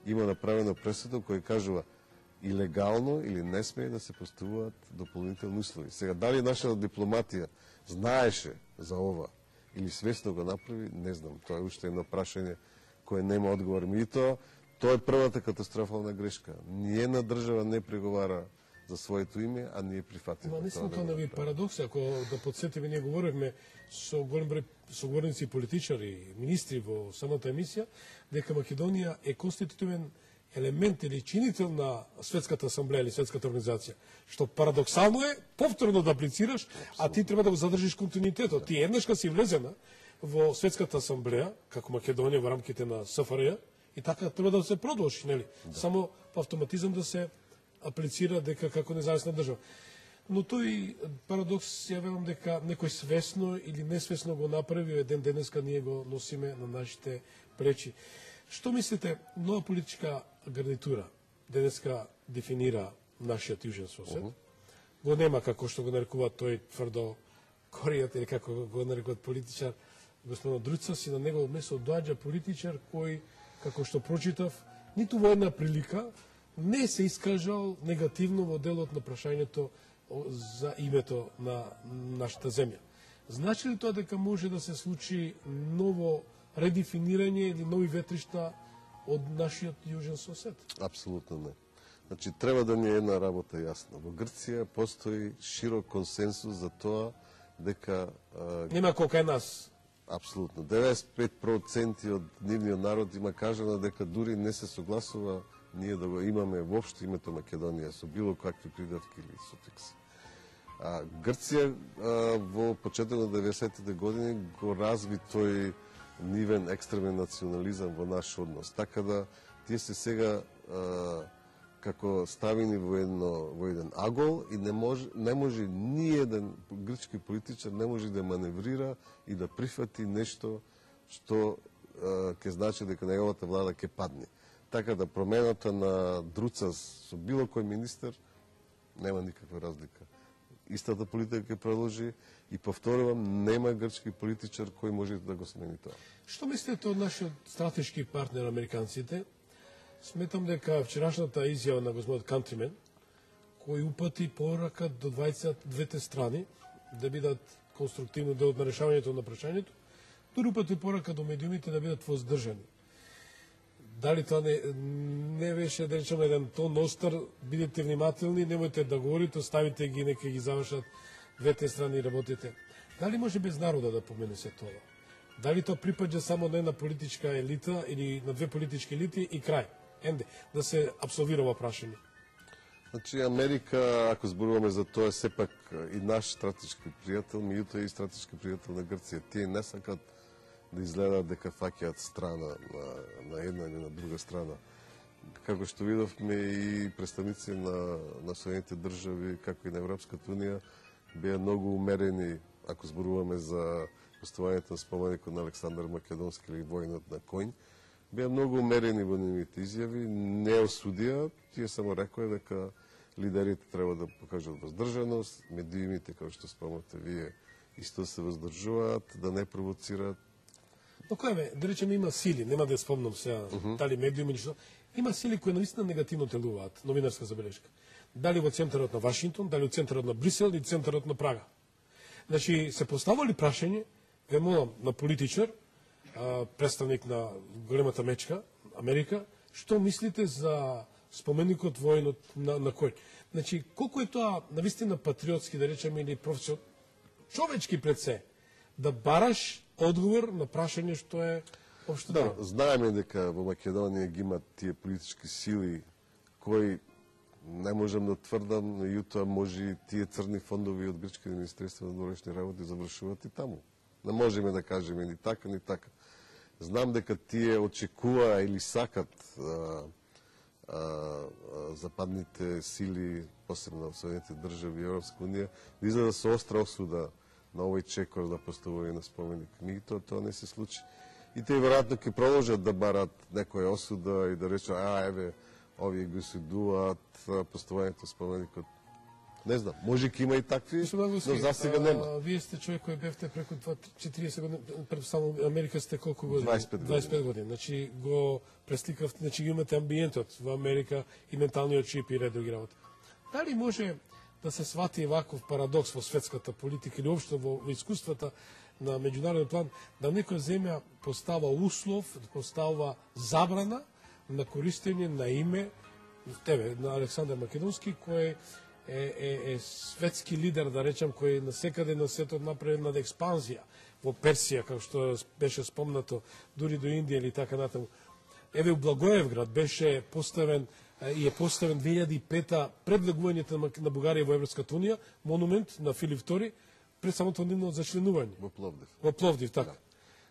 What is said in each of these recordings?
има направено пресуда кој кажува илегално или не смее да се поставуваат дополнителни услови. Сега, дали нашата дипломатија знаеше за ова или свесно го направи, не знам. Тоа е уште едно прашање кое нема одговор. Меѓутоа, тоа е првата катастрофална грешка. Ниједна држава не преговара за своето име, а ние прифативме. Наистина тоа не ви парадокс, ако да подсетиме, ние говоревме со голем број соговорници, политичари, министри во самата емисија, дека Македонија е конститутивен елемент или чинител на Светската асамблеја или Светската организација, што парадоксално е повторно да аплицираш, а ти треба да го задржиш континуитетот. Ти еднаш кога си влезена во Светската асамблеја, како Македонија во рамките на СФРЈ, и така треба да се продолжи, нели? Само по автоматизам да се аплицира дека како независна држава. Но тој парадокс ја велам дека некој свесно или несвесно го направи, еден денеска ние го носиме на нашите плечи. Што мислите, нова политичка гарнитура денеска дефинира нашиот јужен сосед? Го нема, како што го нарекува тој тврдо коријат, или како го нарекуваат политичар господин Друцас, и на негово место доаѓа политичар кој, како што прочитав, ниту во една прилика не се искажал негативно во делот на прашањето за името на нашата земја. Значи ли тоа дека може да се случи ново редефинирање или нови ветришта од нашиот јужен сосед? Апсолутно не. Значи, треба да ни е една работа јасна. Во Грција постои широк консенсус за тоа дека... Нема колка е нас. Апсолутно. 95% од нивниот народ има кажано дека дури не се согласува ние да го имаме воопшто името Македонија со било какви придавки или суфикси. Грција во почетокот на 90-тите години го разви тој нивен екстремен национализам во наш однос. Така да тие се сега како ставени во еден агол и не може ниеден грчки политичар не може да маневрира и да прифати нешто што ќе значи дека неговата влада ќе падне. Така да промената на Друцас со било кој министер нема никаква разлика. Истата политика ќе продолжи и повторувам, нема грчки политичар кој може да го смени тоа. Што мислите од нашиот стратешки партнер американците? Сметам дека вчерашната изјава на господинот Кантримен, кој упати порака до двете страни да бидат конструктивно дел на решавањето на прашањето, дури упати порака до медиумите да бидат воздржани. Дали тоа не беше, да речеме, еден тон остар, бидете внимателни, немојте да говорите, оставите ги, нека ги завршат двете страни работите. Дали може без народа да помене се тоа? Дали тоа припаѓа само на една политичка елита или на две политички елити и крај? Енде, да се абсолвира ова прашање. Значи, Америка, ако зборуваме за тоа, сепак и наш стратешки пријател, меѓутоа и стратешки пријател на Грција. Тие не сакат да изгледаат дека фаќаат страна на една или на друга страна. Како што видовме и представници на Соединените држави, како и на Европската унија, беа многу умерени, ако зборуваме за поставањето на споменикот на Александар Македонски или војнот на конј, беа многу умерени во нивните изјави, не осудија, тие само рекоа дека лидерите треба да покажат воздржаност, медиумите, како што спомнате вие, исто се воздржуваат, да не провоцираат. Но кој да речеме, има сили, нема да ја спомнам сега, дали медиуми или што, има сили кои наистина негативно делуваат, новинарска забелешка. Дали во центарот на Вашингтон, дали во центарот на Брисел или центарот на Прага. Значи, се поставали прашање, ве молам, на политичар, представник на големата мечка, Америка, што мислите за споменикот војнот на кој? Значи, колку е тоа навистина патриотски, да речеме, или професионално, човечки пред се, да бараш одговор на прашање што е општо. Да, знаеме дека во Македонија ги имат тие политички сили кои не можам да тврдам, но јутоа може тие црни фондови од грчките министерства на външни работи завршуваат и таму. Не можеме да кажеме ни така, ни така. Знам дека тие очекуваа или сакат западните сили, посебно во Соединените држави и Европска унија, да излезат со остра осуда на овој чекор да поставување на споменик. Меѓутоа тоа не се случи. И тие веројатно ќе продолжат да барат некоја осуда и да речат, еве, овие го осудуваат поставувањето споменикот. Не знам, може ќе има и такви, но за сега нема. Вие сте човек кој бевте преку 40 години, пред само Америка сте колку години? 25 години. Значи го пресликавте, значи ги имате амбиентот во Америка и менталниот чип и ред други работи. Дали може да се свати ваков парадокс во светската политика или општо во искуствата на меѓународен план, да некоја земја постава услов, постава забрана на користење на име тебе, на Александар Македонски, кој е светски лидер, да речем, кој насекаде на светот направи една експанзија во Персија, како што беше спомнато, дури до Индија или така натаму. Еве у Благоевград беше поставен и е поставен 2005 пред влегувањето на Бугарија во Европската унија монумент на Филип II пред самото нивно зачленување. Во Пловдив. Во Пловдив, така. Да.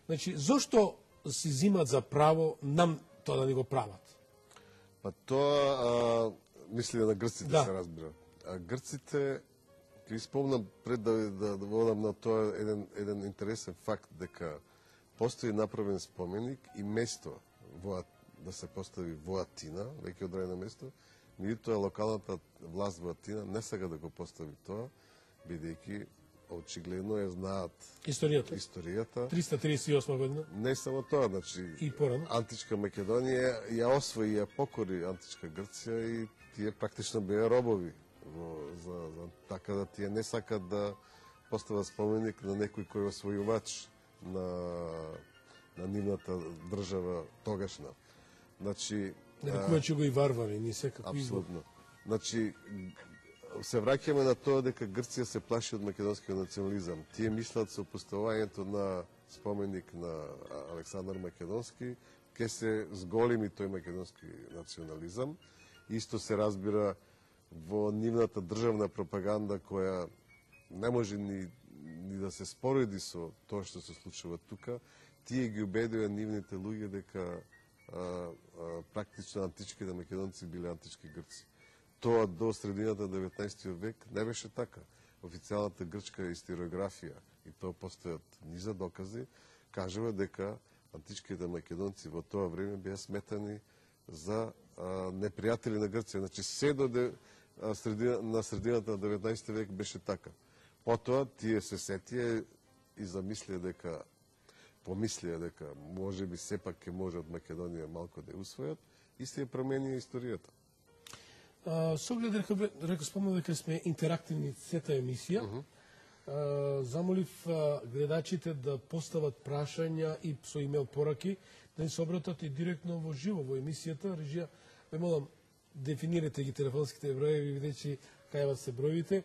Значи, зошто си зимат за право нам тоа да ни го прават? Па тоа мисли на грците, да. Се разбира. А грците, ќе спомнам пред да водам на тоа еден интересен факт, дека постои направен споменик и место да се постави во Атина, веќе одредено место, меѓутоа локалната власт во Атина не сака да го постави тоа, бидејќи очигледно ја знаат историјата. 338 година. Не само тоа, значи и порано. Античка Македонија ја освои, ја покори Античка Грција и тие практично беа робови. Така да тие не сакат да постават споменик на некој кој освојувач на нивната држава тогашна. Значи, нарекувачи го и варвари, ни секако избор. Апсолутно. Значи, се враќаме на тоа дека Грција се плаши од македонскиот национализам. Тие мислат со поставувањето на споменик на Александар Македонски, ке се зголеми тој македонски национализам. Исто се разбира во нивната државна пропаганда, која не може ни да се спореди со тоа што се случува тука. Тие ги убедува нивните луѓе дека практично античките македонци биле антички грци. Тоа до средината 19 век не беше така. Официјалната грчка историографија, и тоа постојат низа докази, кажува дека античките македонци во тоа време беа сметани за непријатели на Грција. Значи, се до на средината на 19 век беше така. Потоа тие се сетија и помислија дека може би сепак ќе може од Македонија малку да ја усвојат и се променија историјата. Со оглед река спомнав дека сме интерактивни сета емисија. Замолив гледачите да постават прашања и со имейл пораки, да ни се обратат и директно во живо во емисијата. Режија, ве молам, дефинирате ги телефонските броеви, видејќи кај се броевите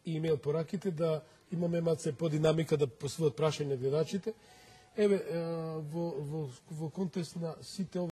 и имейл пораките, да имаме малце по динамика да постават прашања гледачите. Еве, во контекст на сите